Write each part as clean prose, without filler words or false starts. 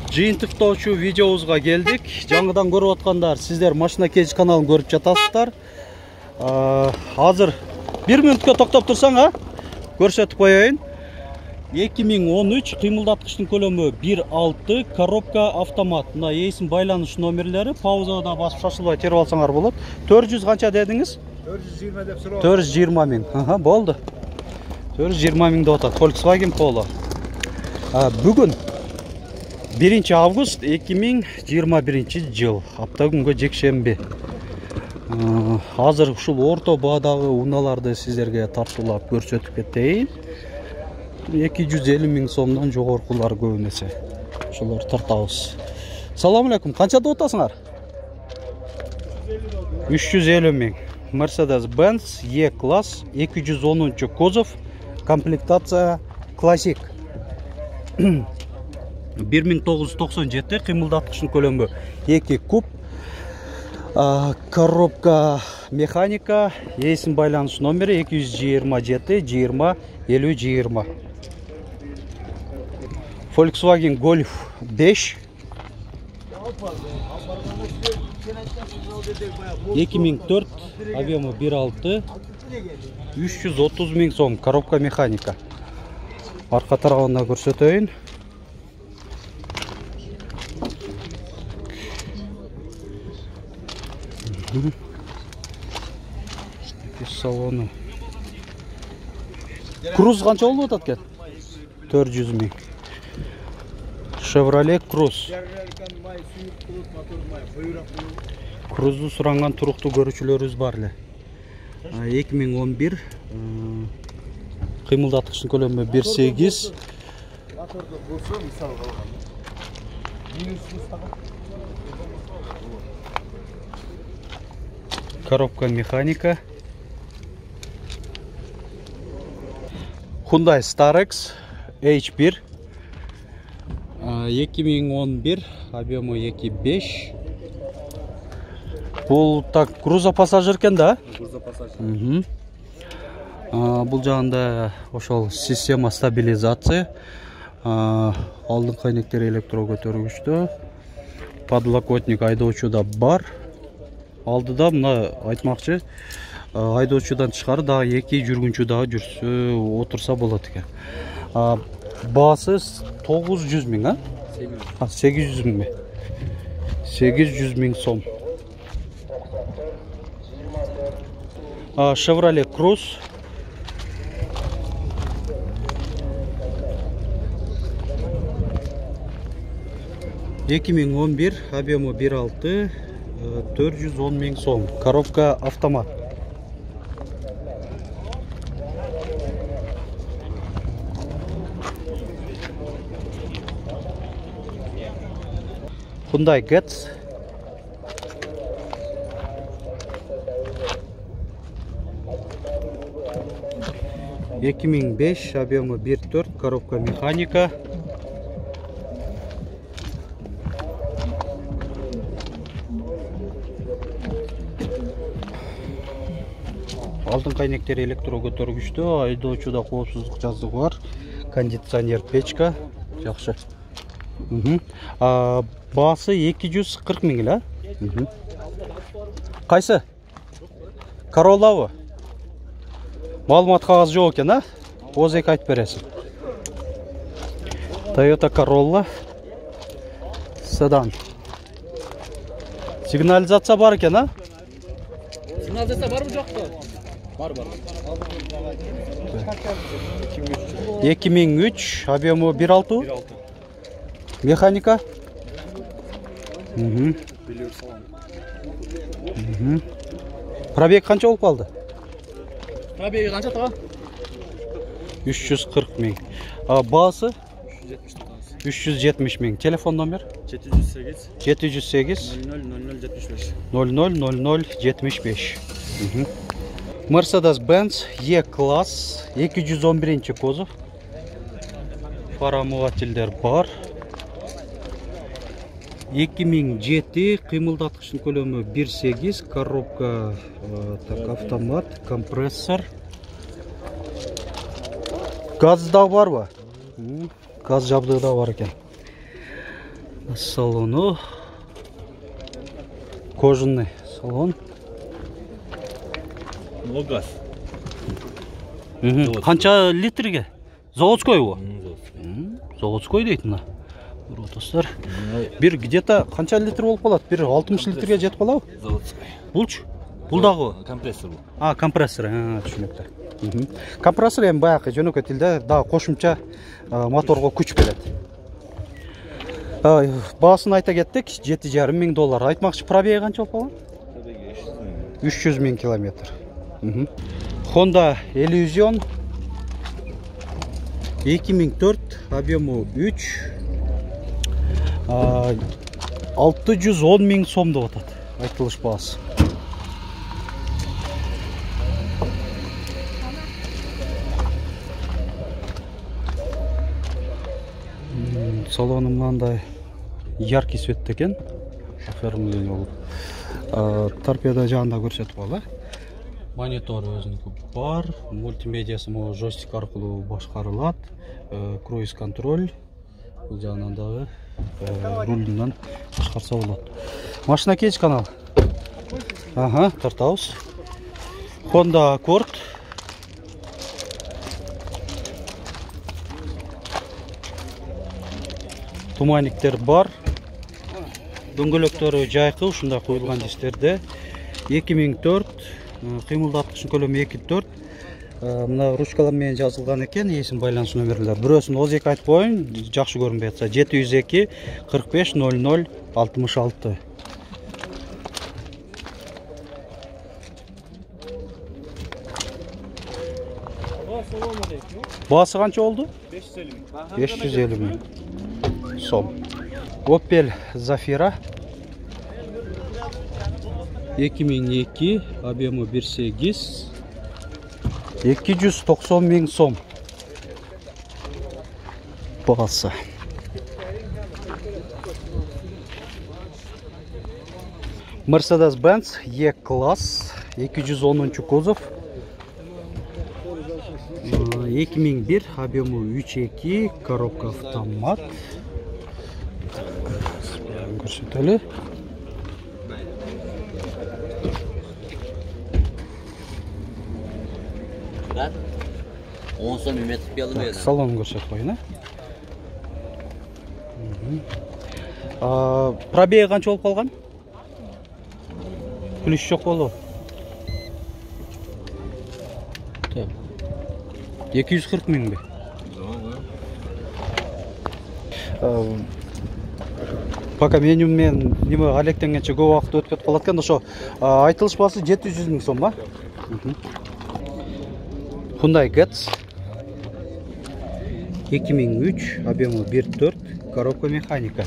Жыйынтыктоочу видеобузга келдик. Жаңыдан көрүп аткандар, сиздер машина кеч каналын көрүп жатасыздар. Азыр 1 мүнөткө токтоп турсаң, көрсөтүп коеюн. 2013 кыймылдаткычтын көлөмү 1.6, коробка автомат. Мына эсин байланыш номерлери, паузада басып шашылбай терип алсаңар болот. 400 канча дедиңиз? 420 деп суроо. 420 миң. Болду. 420 миң деп атат. Volkswagen Polo. Бүгүн 1 август 2021 жыл. Апта күнгө жекшемби. Азыр ушул орто баадагы унааларды сиздерге тартуулап көрсөтүп кетейин. 250 миң сомдон жогоркулар көп эмесе. Ошолор тартабыз. Салам алейкум. Канча деп атасыңар? 350 миң. Mercedes-Benz E-класс 210 кузов, комплектация классик. 1997, кыймылдаткычтын көлөмү 2 куб, коробка механика, эсин байланыш номери 227 20 50 20. Volkswagen Golf 5 2004, объемы 1.6, 330 миң сом, коробка механика. Арка тарабында көрсөтөйүн. Салону. Круз канча болуп атат экен? 400 миң. Chevrolet Cruze. Крузду суранган туруктуу көрүүчүлөрүбүз бар эле. 2011 кыймылдаткычтын көлөмү 1.8. Коробка механика. Hyundai Starex H1 2011, объемы 2.5. Бул так грузопассажир экен да? Грузопассажир. Бул жагында ошол система стабилизация. Алдыңкы айнектери электро көтөргүчтө. Подлокотник айдоочуда бар. Алдыда мына айтмакчы, айдоочудан тышкары дагы 2 жүргүнчү дагы жүрсө, отурса болот экен. Баасы 900 миң, 800 миң. 800 миң сом. Chevrolet Cruze. (2011), объемы 1.6, 410 миң сом. Коробка автомат. Hyundai Getz. (2005), объемы 1.4, коробка механика. Алдыңкы айнектери электро көтөргүчтө, айдоочуда коопсуздук жазыгы бар. Кондиционер печка. Жакшы. Баасы 240 миң эле. Кайсы? Corolla'бы? Маалымат кагазы жок экен, Озек айтып бересиң. Toyota Corolla седан. Сигнализация бар экен, Сигнализация барбы жокпу? Бар. 2003, объемы 1.6. Механика. Пробег канча болуп калды? Пробеги канча тага? 340 миң. Баасы 370 миң. Телефон номер 708 000075. Mercedes-Benz E-класс 211 кузов. Фара омывательдер бар. 2007, кыймылдаткычтын көлөмү 1.8, коробка автомат, компрессор. Газ да барбы? Газ жабдыгы да бар экен. Салону кожаный салон. Газ. Канча литрге? Заводской бу. Заводской дейт мына. Достар. Бир где-то канча литр болуп калат? Бир 60 литрге жетип калабы? Заводской. Булчу? Бул дагы Компрессор бу. Компрессор. Түшүнүктүү. Компрессор эми баягы жөнөкөй тилде дагы кошумча моторго күч берет. Баасын айта кеттик, $7,500. Айтмакчы, пробеги канча болуп калган? 300 000 километр. Honda Elysion 2004, объему 3, 610 000 сом деп атат. Айтылыш баасы. Салону мындай яркий цветте экен. Оформление болуп. Торпеда жагында көрсөтүп коелу. Монитор өзүнүкү бар, мультимедиасы могу жойстик аркылуу башкарылат, круиз контроль, бул жагынан дагы рулунан башкарса болот. Машина кеч канал. Тартабыз. Honda Accord. Туманниктер бар. Дөңгөлөктөрү жайкы, ушундай коюлган дистерде. 2004, кыймылдаткычтын көлөмү 2.4. Мына ручкалар менен жазылган экен, эсин байланыш номерлер. Бирөөсүн ооз эки айтып коеюн, жакшы көрүнбөй атса. 702 45 00 66. Баасы канча болду? 550 000 сом. Opel Zafira 2002, объему 1.8, 290 000 сом. Баасы. Mercedes-Benz E-класс 210 кузов 2001, объему 3.2, коробка автомат. Көрсөтөлү. Салон көрсөтүп коеюн. Пробеги канча болуп калган? Плюс жок болобу? 240 000 бе? Пока меню мен неме алектенгенче көп убакыт өтүп кетип калат экен. Ошо айтылыш баасы 700 000 сом ба? Hyundai Getz 2003, объему 1.4, коробка механика.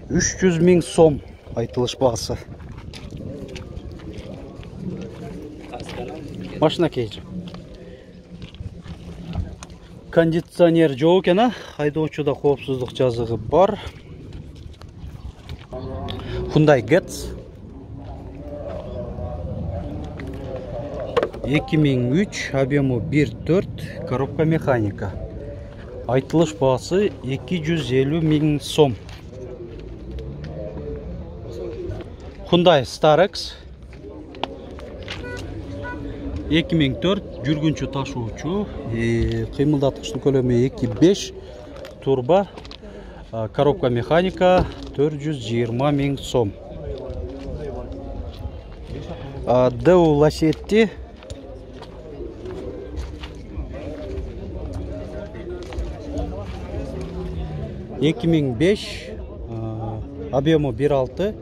300 000 сом айтылыш баасы. Машина кейжи. Кондиционер жок экен, айдоочуда коопсуздук жазыгы бар. Hyundai Getz 2003, объему 1.4, коробка механика. Айтылыш баасы 250 000 сом. Hyundai Starex 2004, жүргүнчү ташуучу, кыймылдаткычтын көлөмү 2.5, турбо, коробка механика, 420 000 сом. Deo Lacetti 2005, объему 1.6,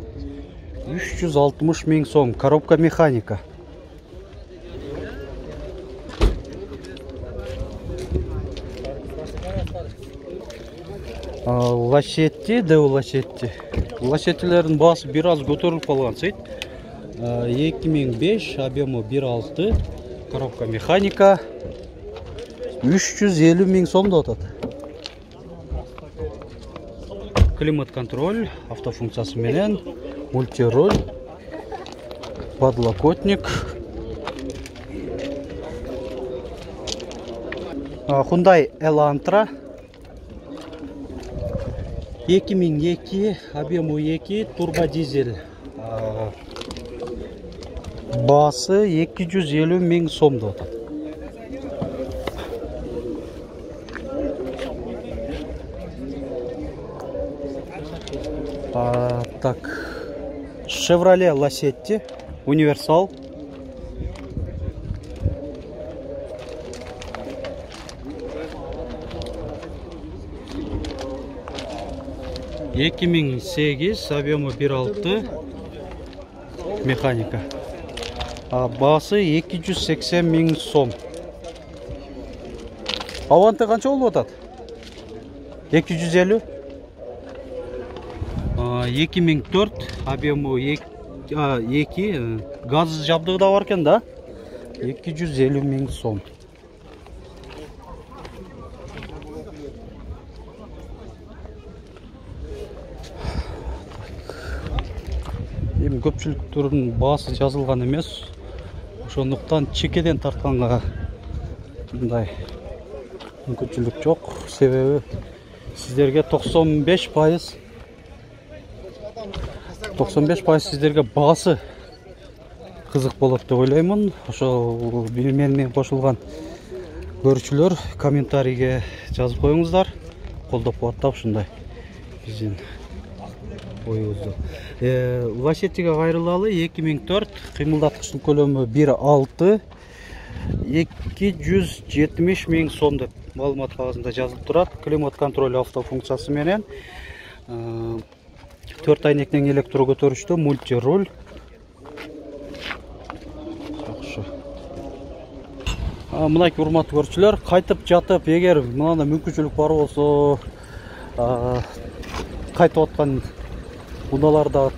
360 000 сом, коробка механика. Lacetti, Deo Lacetti. Lacettилердин баасы бир аз көтөрүлүп калган сейт. 2005, объему 1.6, коробка механика, 350 000 сом деп атат. Климат контроль, автофункциясы менен, мультироль, подлокотник. Hyundai Elantra 2002 объему 2 турбо дизель. Басы 250 миң сом деп атат. Так, Chevrolet Lacetti универсал. Эки миң 8, объему 1.6, механика. Басы 280 миң сом. Аванты канча болуп атат? 250. 2004, объему 2, газ жабдыгы да бар экен да. 250 миң сом. Эми көпчүлүктөрдүн баасы жазылган эмес. Ошондуктан чекеден тартканга мындай мүмкүнчүлүк жок. Себеби сиздерге 95% сиздерге баасы кызык болот деп ойлоймун. Ошо менен кошулган көрүүчүлөр комментарийге жазып коюңуздар. Колдоп каттап ушундай биздин оюбузду. Лачеттиге кайрылалы 2004, кыймылдаткычтын көлөмү 1.6, 270 миң сом деп маалымат кагазында жазылып турат. Климат контроль автофункциясы менен 4 айнектен электро көтөрүштө, мультируль. Жакшы. Мынакей урматтуу көрүүчүлөр, кайтып жатып, эгер мындай мүмкүнчүлүк бар болсо, кайтып аткан унааларда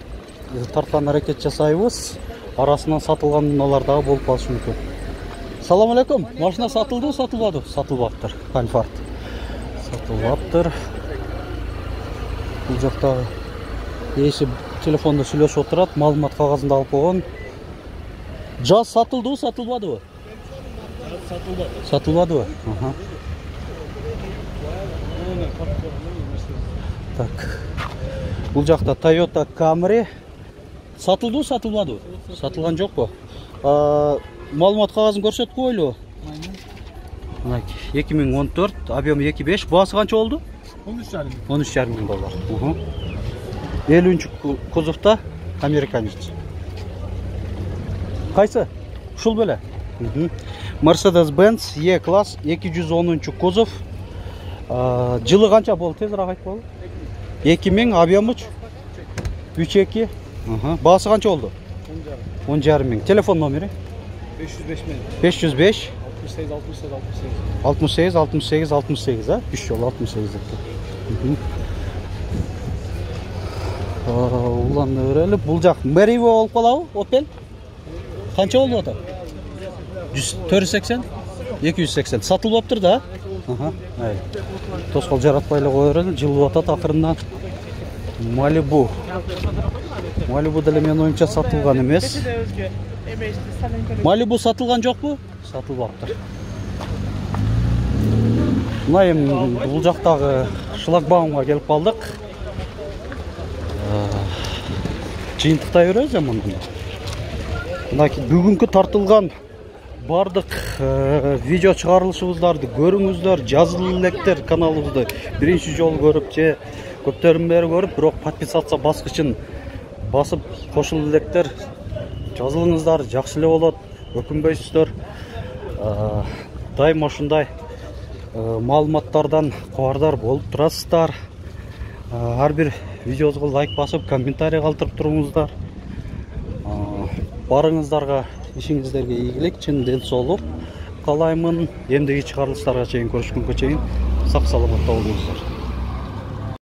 тарткан аракет жасайбыз. Арасынан сатылган унаалар дагы болуп калышы мүмкүн. Салам алейкум. Машина сатылды, сатылбады? Сатылбаптыр. Альфард. Сатылбаптыр. Бул жакта ээси телефондо сүйлөшүп отурат, маалымат кагазында алып койгон. Жаз сатылды, сатылбадыбы? Сатылбады. Сатылбадыбы? Так. Бул жакта Toyota Camry сатылды, сатылбады? Сатылган жокпу? Маалымат кагазын көрсөтүп койлу. 2014, объем 2.5, баасы канча болду? 13,5 миң доллар. 50-нчи кузовта американец. Кайсы? Ушул беле? Mercedes-Benz E-класс 210-нчу кузов. Жылы канча болду? Тезирээк айтып коелу. 2000, объемыч 3.2. Баасы канча болду? 10,5 миң. Телефон номери? 505 68 68 68, 3 жолу 68 деп. Уланды берели. Бул жак Merivo болуп калабы? Opel? Канча болду ата? 480? 280. Сатылбаптыр да? Тоскол жаратпай эле кое берели. Жылып атат акырындан. Malibu. Malibu деле менин оюмча сатылган эмес. Malibu сатылган жокпу? Сатылбаптыр. Мына эми бул жактагы шлагбаумга келип калдык. Жыйынтыктай беребиз эми мындай. Мынакей бүгүнкү тартылган бардык видео чыгарылышыбыздарды көрүңүздөр, жазылып электер каналыбызды биринчи жолу көрүп же көптөрдөн бери көрүп, бирок подписация баскычын басып кошулуп электер. Жазылыңыздар, жакшы эле болот. Өкүнбөйсүздөр. Дайыма ушундай маалыматтардан кабардар болуп турасыздар. Ар бир видеобузга лайк басып, комментарий калтырып туруңуздар. Барыңыздарга, ишиңиздерге ийгилик, чын ден соолук каалаймын. Эмдеги чыгарылыштарга чейин көрүшкөнгө чейин сак саламатта болуңуздар.